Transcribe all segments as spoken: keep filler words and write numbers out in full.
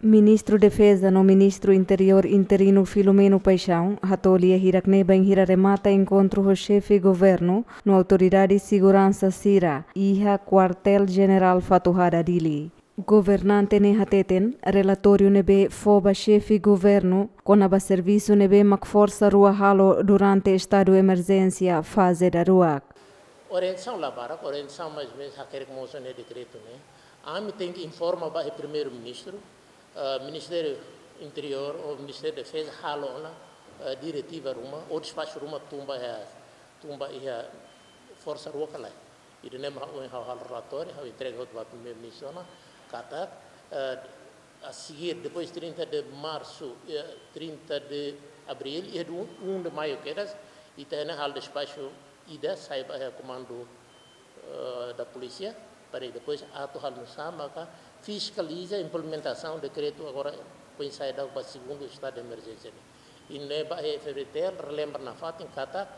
Ministru Defeza no Ministru Interiór interinu Filomeno Paixão hato'o lia hirak-ne'e bainhira remata enkontru ho xefe governu no autoridade seguransa sira iha Kuartél Jenerál Fatuhada, Dili. Governante ne'e hateten relatóriu ne'ebé fó ba xefe governu kona-ba servisu ne'ebé mak Forsa Rua halo durante estadu emerjénsia faze daruak. Orientasaun la barak, orientasaun mais ou menos hakerek mosu ne'e dekretu ne'e. Ami tenke informa ba iha Primeiru-Ministru, eh, Ministériu Interiór ou Ministériu Defeza halo ona, eh, diretiva ruma ou despaxu ruma tun ba iha, tun ba iha Forsa Rua ka lae. Ida-ne'e mak ha'u, ha'u halo relatóriu, ha'u entrega hotu ba Primeiru-Ministru ona, katak, eh, a seguir, depois trinta de março, eh, trinta de abril, iha dia um de maio kedas, ita-nia halo despaxu ida sai ba iha komandu, eh, da polísia, para depois atu halo nu'usá maka fiskaliza implementasaun dekretu agora foin sai daudauk ba segundu estadu de emerjénsia ne'e. I ne'e ba iha F-FDTL relembra nafatin katak,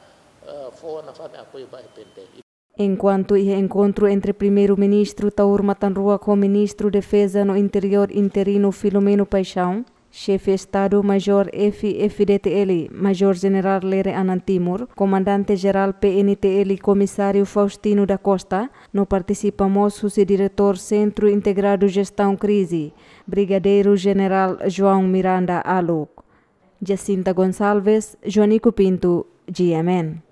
eh, fó nafatin apoiu ba iha P N T L. Enkuantu iha enkontru entre Primeiru-Ministru Taur Matan Ruak ho Ministru Defeza no Interiór interinu Filomeno Paixão, Xefe Estadu-Maiór F-FDTL, Majór Jenerál Lere Anan Timur, Komandante Jerál P N T L, Komisáriu Faustino da Costa, no partisipa mós husi Diretór Sentru Integradu Jestaun Krize, Brigadeiru Jenerál João Miranda Aluk. Jacinta Gonçalves, Joanico Pinto, G M N.